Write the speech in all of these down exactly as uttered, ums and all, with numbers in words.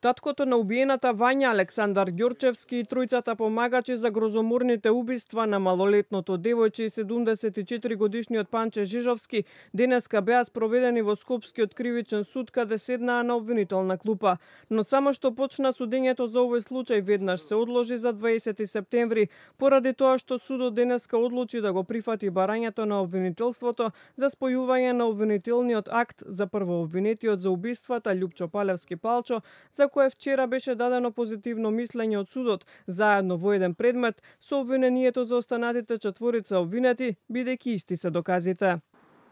Таткото на убиената Вања, Александар Ѓорчевски и тројцата помагачи за грозоморните убиства на малолетното девојче и седумдесет и четири годишниот Панче Жижовски денеска беа спроведени во Скопскиот кривичен суд, каде седнаа на обвинителна клупа. Но само што почна судењето за овој случај веднаш се одложи за дваесети септември, поради тоа што судот денеска одлучи да го прифати барањето на обвинителството за спојување на обвинителниот акт за првообвинетиот за убиствата Љупчо Палевски Палчо, за кое вчера беше дадено позитивно мислење од судот, заедно во еден предмет со обвинението за останатите четворица обвинети, бидејќи исти се доказите.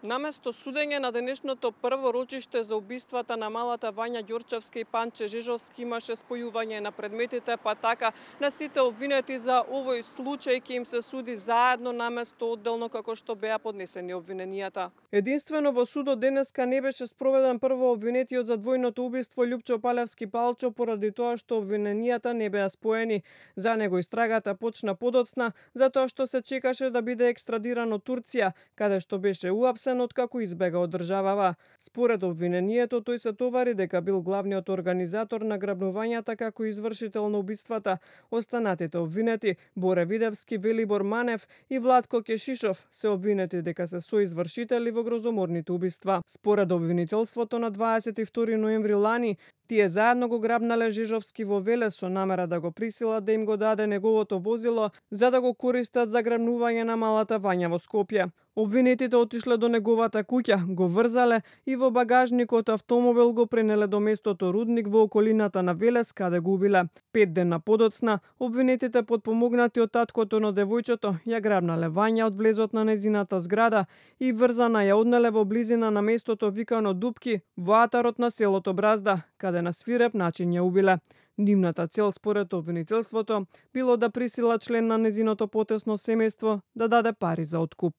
Наместо судење на денешното прво рочиште за убиствата на малата Вања Ѓорчевска и Панче Жижовски имаше спојување на предметите, па така на сите обвинети за овој случај ќе им се суди заедно наместо одделно како што беа поднесени обвиненијата. Единствено во судот денеска не беше спроведен прво обвинетиот за двојното убиство Љупчо Палевски Палчо поради тоа што обвиненијата не беа споени. За него истрагата почна подоцна затоа што се чекаше да биде екстрадиран од Турција, каде што беше уапсен откако избега од државава. Според обвинението, тој се товари дека бил главниот организатор на грабнувањата како извршител на убиствата. Останатите обвинети, Боре Видевски, Велибор Манев и Владко Кешишов, се обвинети дека се соизвршители во грозоморните убиства. Според обвинителството на дваесет и втори ноември лани, тие заедно го грабнале Жижовски во Велес со намера да го присилат да им го даде неговото возило за да го користат за грабнување на малата Вања во Скопје. Обвинетите отишле до неговата куќа, го врзале и во багажникот автомобил го пренеле до местото Рудник во околината на Велес, каде го убиле. Пет дена подоцна, обвинетите подпомогнати од таткото на девојчето ја грабнале Вања од влезот на незината зграда и врзана ја однеле во близина на местото викано Дупки во атарот на селото Бразда, каде на свиреп начин ја убиле. Нивната цел според обвинителството било да присила член на незиното потесно семејство да даде пари за откуп.